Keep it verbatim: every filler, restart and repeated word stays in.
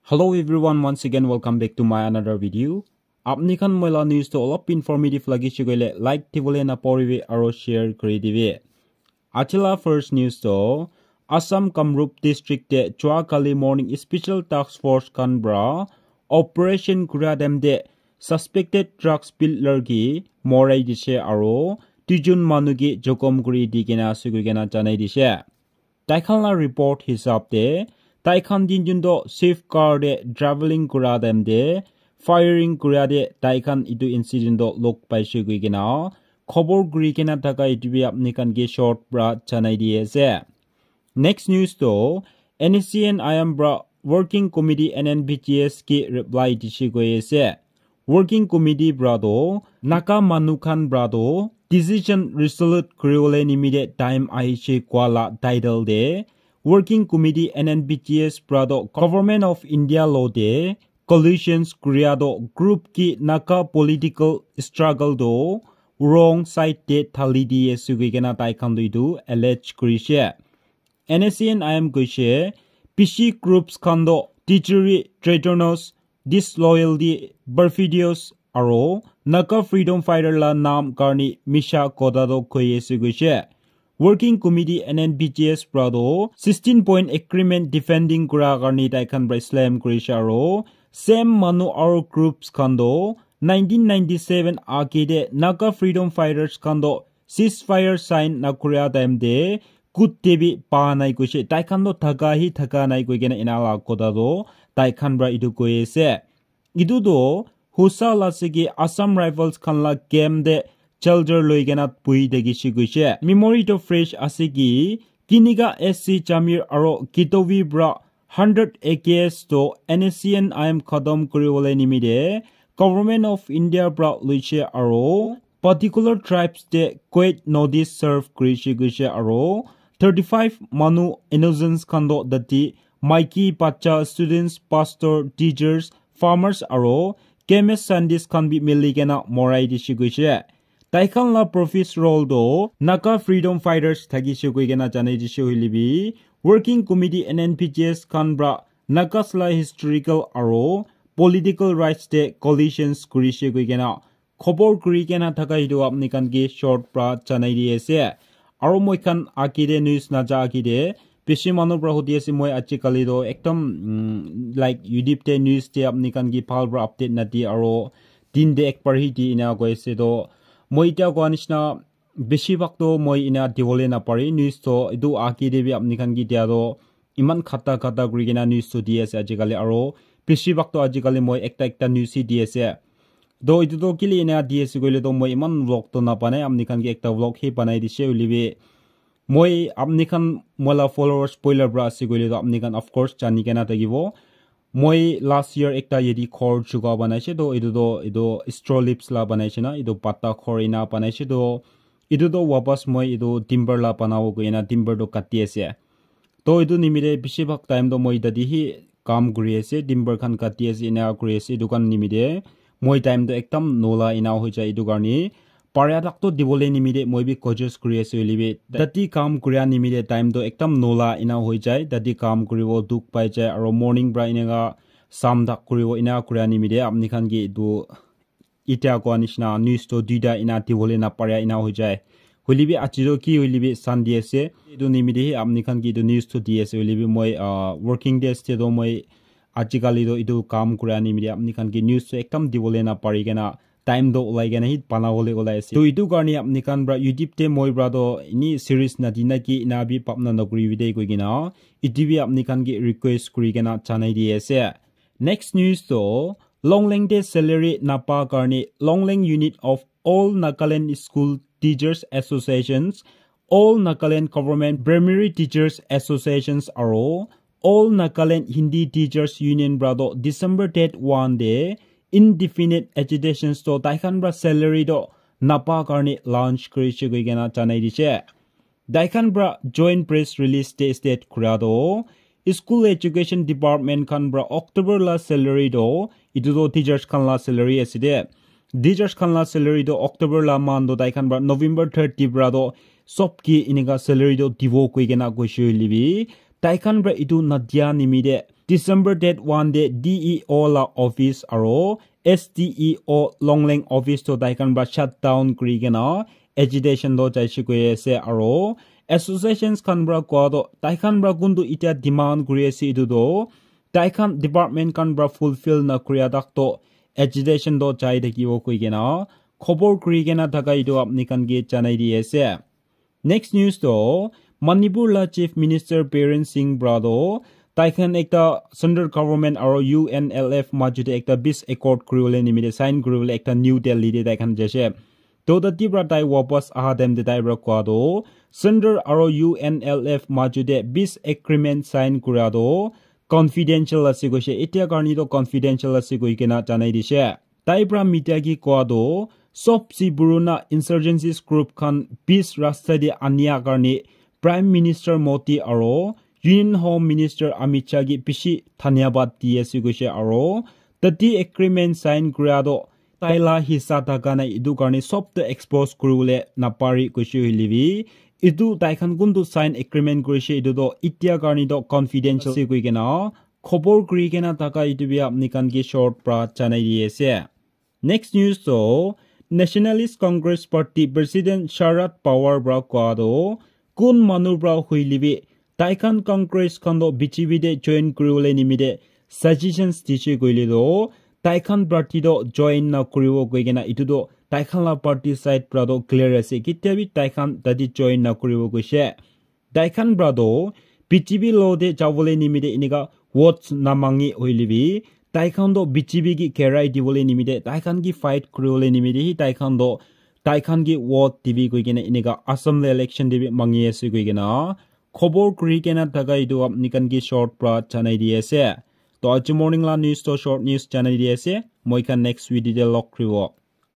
Hello everyone, once again welcome back to my another video. Apni khan moi la news to olop informative lagi shigole like dibole na poribi aro share kuri dibi. Achila first news to Assam Kamrup district te chua kali morning special task force khan bra operation kura dem de suspected drugs peddler ki morai dise aro duijon manu ki jokhom kuri di kena ase koi kena janai dise. Tai khan la report hisab te tai khan tinjon to Swift car te traveling kura time te firing kura te tai khan etu incident to log paise koi kena khobor kuri kena thaka etu bi apni khan ke short pra janai di ase. Next news to N S C N I M pra working committee N N P G S ke reply dise koi ase. Working committee pra to Naga manu khan pra to decision resolute kuribole nimite time ahishe kua la title te working committee N N P G S pra to Government of India lo te collusions kuria to group ki Naga political struggle to wrong side te thali di ase koi kena tai khan to etu allege kurishe. N S C N I M koishe, bishi groups khan to treachery, traitorous, disloyalty, perfidious, aro Naga freedom fighter la naam karni misha kotha to koi ase koishe. Working committee N N P G S pra to sixteen point agreement defending kura karni tai khan pra slam kurishe aro same manu aro groups khan to nineteen ninety-seven age te Naga freedom fighters khan to ceasefire sign na kuria time te kut te bi pa nai koishe. Tai khan to thaka hi thaka nai koi kena ena la kotha to tai khan pra etu koi ase. Etu to hosa la ase ki Assam Rifles khan la camp te shelter loi kena pui thakishe koishe. Memory to fresh ase ki Kiniga S C Jamir aro Kitovi pra hundred A K S to N S C N I M khatam kuribole nimite Government of India pra loishe aro particular tribes te quiet notice serve kurishe koishe aro thirty-five manu innocents khan to dati maiki, bacha, students, pastor, teachers, farmers aro chemist, scientist khan bi mili kena morai dishe koishe. Tai khan la profit role to Naga freedom fighters thakishe koi kena janai dishe hoile bi working committee N N P G S khan pra Nagas la historical aro political rights te collisions kurishe koi kena khobor kuri kena thaka etu apni khan ke short pra janai di ase. Aro moi khan age te news naja age te bishi manu pra hudi ase moi ajikali to ekdam mm, like YouTube te news te apni khan ke bhal pra update nadi aro din te ek bar hi di ena koi ase to moi etia koa nishina bishi bhag to moi ena dibole napari news to etu age te bi apni khan ke dia to iman khata khata kuri kena news to di ase ajikali aro bishi bhag to ajikali moi ekta ekta news hi di ase. To etu to kile ena di ase koile to moi iman vlog to nabanai, apni khan ke ekta vlog hi banai dishe hoile bi moi apni khan moi la followers poila pra ase koile to apni khan of course jani kena thakibo. Moi last year ekta yate ghor chuka banaishe to etu to etu straw leaves la banaishe na etu pata ghor ena banaishe to etu to wapas moi etu timber la banabo koi kena timber to kati ase. To etu nimite bishi bhag time to moi tate hi kam kuri ase, timber khan kati ase, ena kuri ase, etu khan nimite moi time to ekdam nola ena hoi jai, etu karne paria tak to dibole nimite moi bi cautious kuri ase hoile bi tate kam kuria nimite time to ekdam nola ena hoi jai, tate kam kuribo dukh pai jai, aro morning pra eneka sam tak kuribo ena kuria nimite apni khan ke etu Etia koa nishina news to duita ena dibole naparia ena hoi jai. Hoile bi aji to ki hoile bi Sunday ase. Etu nimite hi apni khan ke etu news to di ase. Hoile bi moi ah, working days te to moi ajikali to etu kam kura nimite apni khan ke news to ekdam dibole napari kena time to ulai kena hi banabole ulai ase. To etu karne apni khan pra YouTube te moi pra to ini series nadi na ki ena bi papna nakuri bi de koi kena etu bi apni khan ke request kuri kena janai di ase. Next news to Longleng te salary napa karne Longleng unit of All Nagaland School Teachers Associations, All Nagaland Government Primary Teachers Associations aro All Nagaland Hindi Teachers Union pra to December date one te indefinite agitations to tai khan pra salary to napa karne launch kurishe koi kena janai dishe. Tai khan pra joint press release te state kura to school education department khan pra October la salary to etu to teachers khan la salary ase de. Teachers khan la salary to October la man to tai khan pra November thirty pra to sob ki enika salary to dibo koi kena koishe hoile bi tai khan pra etu nadia nimite December date one te D E O la office aro S D E O Longleng office to tai khan pra shut down kuri kena agitation to jaise koi ase aro associations khan pra koa to tai khan pra kuntu itia demand kuri ase itu to tai khan department khan pra fulfill na kuria tak to agitation to jai thakibo koi kena khobor kuri kena thaka itu apni khan ke janai di ase. Next news to Manipur la Chief Minister Biren Singh pra to tai khan ekta central government aro U N L F majute ekta peace accord kuriwole nimite sign kuriwole ekta New Delhi te tai khan jaise. To tati pra tai wapas aha time te tai pra koa to central aro U N L F majute peace agreement sign kura to confidential ase koise. Etia karni to confidential ase koi kena janai dise. Tai pra media ki koa to sob si purana insurgencies group khan peace rasta te ania karni Prime Minister Modi aro Union Home Minister Amit Shah ki bishi dhanyabad di ase koise aro tati agreement sign kura to tai la hissa thaka nai itu karni sob to expose kuriwole napari koise hoile bi itu tai khan kuntu sign agreement kurise itu to itia karni to confidential ase koi kena khobor kuri kena thaka itu bi apni khan ke short pra janai di ase. Next news to Nationalist Congress Party President Sharad Pawar pra koa to kun manu pra hoile bi tai khan Congress khan to B J P te join kuriwole nimite suggestions dise koile to tai khan party to join na kuribo koi kena itu to tai khan la party side pra to clear ase kitia bi tai khan tati join na kuribo koise. Tai khan pra to B J P lo te jawole nimite enika votes na mangi hoile bi tai khan to B J P ki kerai diwole nimite tai khan ki fight kuriwole nimite hi tai khan to tai khan ki vote dibi koi kena enika Assam le election dibi mangi ase koi kena khobor kuri kena thaka itu apni khan ki short pra janai di ase. To aji morning la news to short news janai di ase. Moi khan next video te log kuribo.